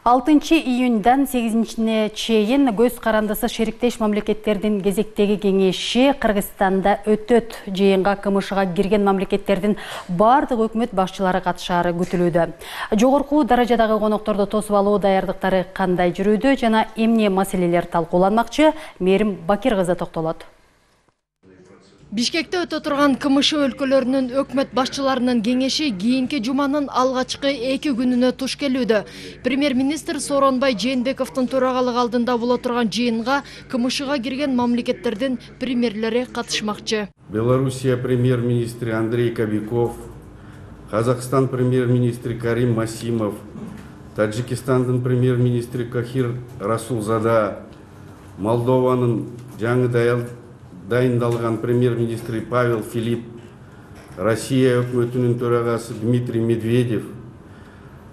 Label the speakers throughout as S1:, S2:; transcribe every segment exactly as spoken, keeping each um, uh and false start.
S1: алтынчы июньдан сегизинчине чейин көз карандысы шериктеш мамлекеттердин кезектеги кеңеши Кыргызстанда өтөт. Жыйынга КМШга кирген мамлекеттердин бардык өкмөт башчылары катышаары күтүлүүдө. Жогорку даражадагы конокторду тосуп алуу даярдыктары кандай жүрүүдө жана эмне маселелер талкууланмакчы? Мээрим Бакир кызы токтолот.
S2: Бишкекте өтө турган КМШ өлкөлөрүнүн өкмөт башчыларынын кеңеши кийинки жуманын алгачкы эки күнүнө туш келүүдө. Премьер-министр Сооронбай Жээнбековдун төрагалыгы алдында боло турган жыйынга КМШга кирген мамлекеттердин премьерлери катышмакчы.
S3: Белоруссия премьер-министри Андрей Кобяков, Казакстан премьер-министри Карим Масимов, Таджикистандын премьер-министри Кахир Расулзада, Молдованын жаңы даял дайындалган премьер-министри Павел Филипп, Россия өкмөтүнүн төрагасы Дмитрий Медведев,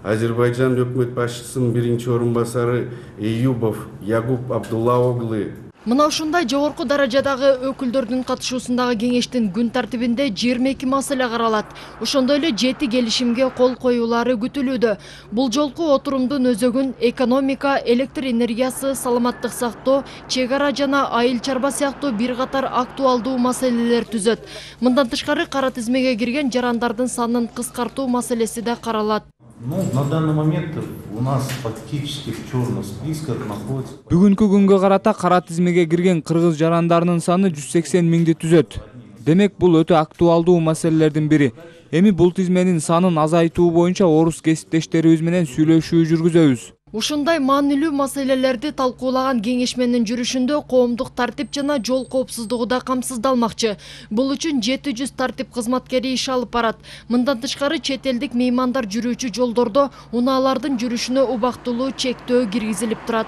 S3: Азербайджан өкмөт башчысынын биринчи орун басары Эюбов Ягуб Абдулла Оглы.
S2: Мына ушундай жогорку даражадагы өкүлдөрдүн катышуусундагы кеңештин күн тартибинде жыйырма эки маселе каралат. Ошондой эле жети келишимге кол коюулары күтүлүүдө. Бул жолку отурумдун өзөгүн экономика, электр энергиясы, саламаттык сактоо, чек ара жана айыл чарба сыяктуу бир катар актуалдуу маселелер түзөт. Мындан тышкары кара тизмеге кирген жарандардын санын кыскартуу маселеси да каралат.
S4: Ну, на данный момент у нас фактически в черных списках находится.
S5: Бүгүнкү күнгө карата кара тизмеге кирген кыргыз жарандарынын саны жүз сексен миңди түзөт. Демек бул өтө актуалдуу маселелердин бири. Эми бул тизменин санын азайтуу боюнча орус кесиптештерибиз менен сүйлөшүү жүргүзөбүз.
S2: Ушундай маанилүү маселелерди талкуулаган кеңешменин жүрүшүндө коомдук тартип жана жол коопсуздугу да камсыздалмакчы. Бул үчүн жети жүз тартип кызматкери иш алып барат. Мындан тышкары чет элдик меймандар жүрүүчү жолдордо унаалардын жүрүшүнө убактылуу чектөө киргизилип турат.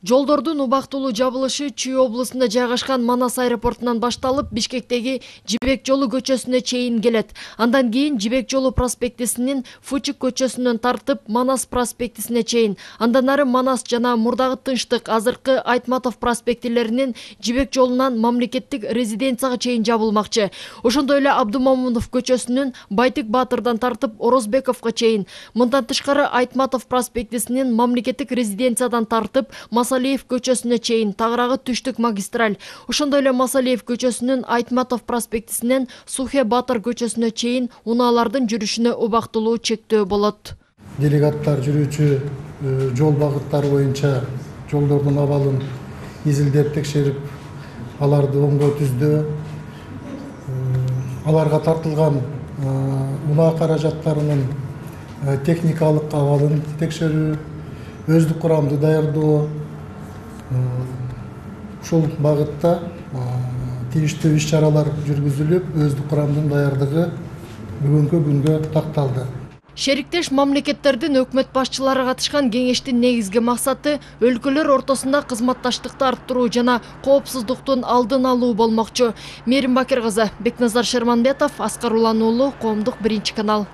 S2: Жолдордун убактылуу жабылышы Чүй облусунда жайгашкан Манас аэропортунан башталып, Бишкектеги Жибек жолу көчөсүнө чейин келет. Андан кийин Жибек жолу проспектисинин Фучик көчөсүнөн тартып Манас проспектисине чейин, андан ары Манас жана Мурдагы Тынчтык, азыркы Айтматов проспектилеринин Жибек жолунан мамлекеттик резиденцияга чейин жабылмакчы. Ошондой эле Абдумамунов көчөсүнүн Байтык Баатырдан тартып Орозбековго чейин, мындан тышкары Айтматов проспектисинин мамлекеттик резиденциядан тартып Масалиев көчөсүнө чейин, тагыраагы түштүк магистраль. Ошондой эле Масалиев көчөсүнүн Айтматов проспектисинен Сухе Батыр көчөсүнө чейин унаалардын жүрүшүнө убактылуу чектөө болот.
S6: Делегаттар жүрүүчү жол багыттары боюнча жолдордун абалын изилдеп текшерип, аларды оңдоо түздөө, аларга тартылган унаа каражаттарынын техникалык абалын текшерүү, өздүк курамды даярдоо, ушул багытта тийиштүү иш чаралар жүргүзүлүп, өздүк курамдын даярдыгы бүгүнкү күнгө такталды.
S2: Шериктеш мамлекеттердин өкмөт башчылары катышкан кеңештин негизги максаты өлкөлөр ортосунда кызматташтыкты арттыруу жана коопсуздуктун алдын алуу болмокчу. Мээрим Бакир кызы, Бекназар Шерманбетов, Аскар Улан уулу, Коомдук биринчи канал.